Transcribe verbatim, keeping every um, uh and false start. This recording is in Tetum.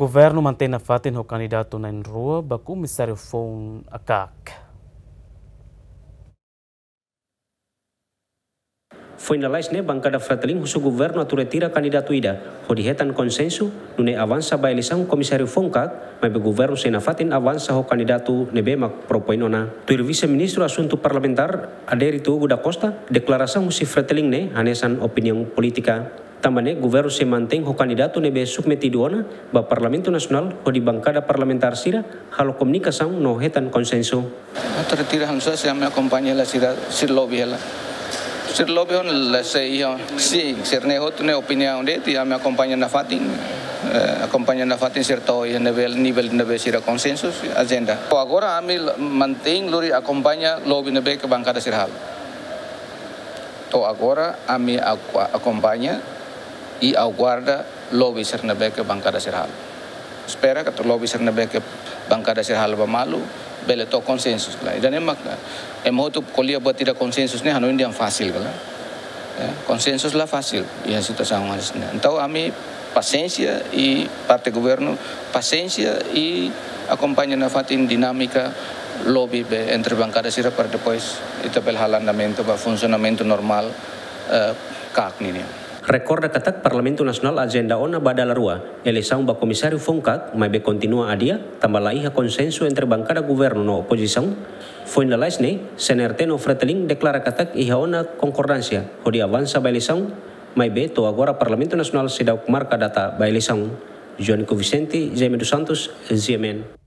Governu mantein nafatin ho kandidatu na'in-rua ba komisáriu foun A K A K. Foin lalais ne'e, bankada Fretilin husu governu atu retira kandidatu ida hodi hetan konsensu, nune'e avansa ba eleisaun komisáriu foun A K A K, maibé governu sei nafatin avansa ho kandidatu ne'ebé mak propoin ona. Tuir Vise-Ministru Asuntu Parlamentár, Adérito Hugo da Costa, deklarasaun husi Fretilin ne'e hanesan opiniaun polítika. Tanba ne'e, governu sei mantein ho kandidatu ne'ebé submetidu ona ba Parlamentu Nasionál hodi bankada parlamentár sira halo komunikasaun no hetan konsensu. Atu retira hanesan ne'e, ami akompaña hela sira, sira lobby hela. Sira lobby ona la sei iha, sin, sira-ne'e hotu ne'e opiniaun de'it, ami akompaña nafatin, eh, akompaña nafatin sira to'o iha nivel, nivel ne'ebé sira konsensu, ajenda. To'o agora ami la-, mantein lori akompaña lobby ne'ebé ke bankada sira halo. To'o agora ami aku-, akompaña i aguarda lobby sira ne'ebé ke bankada sira halo. Espera katak lobby sira ne'ebé ke bankada sira halo ba malu, bele to'o konsensu, kala. Ida-ne'e mak, ema hotu ko'alia buat ida konsensu ne'e hanoin dehan fasil, kala. Ya, konsensu la fasil iha situasaun hanesan ne'e. Entaun ami pasiénsia i parte governu pasiénsia i akompaña nafatin dinámika lobby be entre bankada sira para depois ita bele halo andamentu ba funsionamentu normál, eh, A K A K nian. Rekorda katak Parlamentu Nasionál ajenda ona ba dala rua eleisaun ba komisáriu foun A K A K, maibé kontinua adia, tanba la iha konsensu entre bankada governu no opozisaun. Foin lalais ne'e, C N R T no Fretilin deklara katak iha ona konkordánsia hodi avansa ba eleisaun, maibé to'o agora Parlamentu Nasionál seidauk marka data ba eleisaun. Joanico Vicente, Jaime dos Santos, G M N.